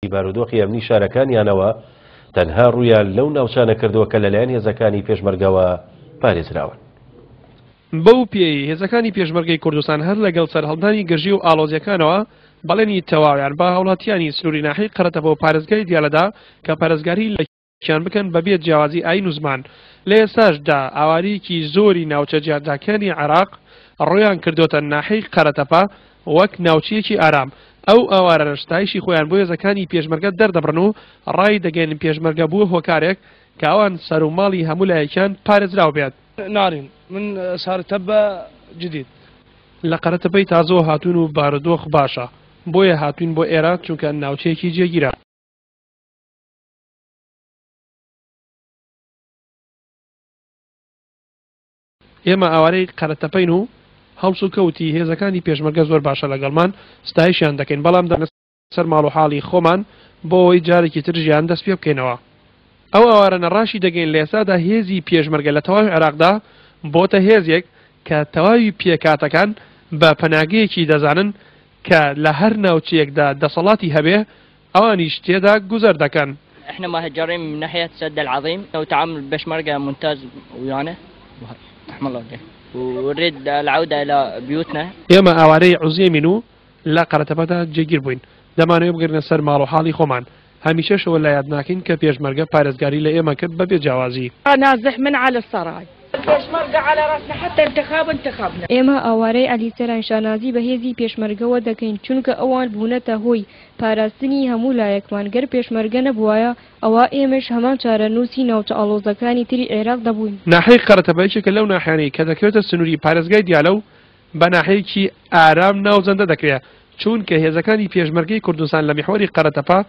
بارودۆخی ئەمنی شارەکانیانەوە تەنها ڕوویان لەو ناوچانە کردووە کە لەلایەن هێزەکانی پێشمەرگەوە پارێزراون. بەو پێیەی هێزەکانی پێشمەرگەی کوردستان هەر لەگەڵ سەرهەڵدانی گرژی و ئاڵۆزییەکانەوە بەڵێنی تەواویان بە هاوڵاتیانی سنووری ناحیەی قەرەتەپە و پارێزگای دیالە دا کە پارێزگاری لە کیان بکەن بەبێ جیاوازی ئایین و زمان، لە ئێستاشدا ئاوارەیەکی زۆری ناوچە جیاجاکانی عێراق ڕوویان کردۆتە ناحیەی قەرەتەپە وەک ناوچەیەکی ئارام، ئەو ئاوارانەش ستایشی خۆیان بۆ هێزەکانی پێشمەرگە دەردەبڕن و ڕایدەگەیەنن پێشمەرگە بووە هۆکارێک کە ئەوان سەر و ماڵی هەموو لایەکیان پارێزراو بێت. نارین من سارتەبە جدید. لە قەرەتەپەی تازەوە هاتوون و بارودۆخ باشە، بۆیە هاتووین بۆ ئێرە چونکە ناوچەیەکی جێگیرە. ئێمە ئاوارەی قەرەتەپەین و هەڵسوکەوتی هێزەکانی پێشمەرگە زۆر باشە لەگەڵمان، ستایشیان دەکەین، بەڵام دەگەڕێینە سەر ماڵ و حاڵی خۆمان بۆ ئەوەی جارێکی تر ژیان دەست پێ بکەینەوە. ئەو ئاوارانە ڕاشی دەگەین لە ئێستادا هێزی پێشمەرگە لە تەواوی عێراقدا بۆتە هێزێک کە تەواوی پێکهاتەکان بە پەناگەیەکی دەزانن کە لە هەر ناوچەیەکدا دەسەڵاتی هەبێ ئەوانیش تێدا گوزەر دەکەن. احنا مهجرين من ناحية سد العظيم وتعامل البشمركة ممتاز ويانا رحم الله والديك ونريد العودة إلى بيوتنا. ئێمە ئاوارەی عوزێمین و لە قەرەتەپەدا جێگیر بووین، دەمانەوێ بگەڕێینە سەر ماڵ و حاڵی خۆمان، هەمیشەش ئەوە لە یاد ناکەین کە پێشمەرگە پارێزگاری لە ئێمە کرد بەبێ جیاوازی. نازح من علی السرای. الپێشمەرگە علی راسنا حتی انتخاب انتخبنا. ئێمە ئاوارەی عەلی سەراین شانازی بە هێزی پێشمەرگەوە دەکەین، چونکە ئەوان بوونەتە هۆی پاراستنی هەموو لایەکمان، گەر پێشمەرگە نەبووایە ئەوا ئێمەش هەمان چارەنووسی ناوچە ئاڵۆزەکانی تری عێراق دەبووین. ناحیەی قەرەتەپە یەکێکە لەو ناحیانەی کە دەکەوێتە سنووری پارێزگای دیالە و بە ناحیەیەکی ئارام ناوزەندە دەکرێ، چوونکە هێزەکانی پێشمەرگەی کوردستان لە میحوەری قەرەتەپە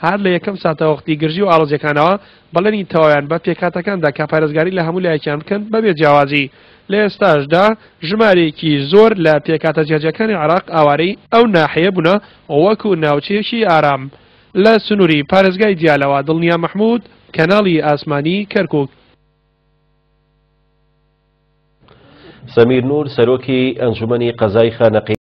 هەر لە یەکەم ساتەوەختی گرژی و ئاڵۆزیەکانەوە بەڵێنی تەواویان بە پێکهاتەکان دا کە پارێزگاری لە هەموو لایەکیان بکەن بەبێ جیاوازی. لە ئێستاشدا ژمارەیەکی زۆر لە پێکهاتە جیاجیاکانی عێراق ئاوارەی ئەو ناحیەیە بوونە وەکو ناوچەیەکی ئارام. لە سنووری پارێزگای دیالەوە دڵنیا مەحمود، کەناڵی ئاسمانی کەرکوک. سەمیر نور سەرۆکی ئەنجومەنی قەزای خانەقین.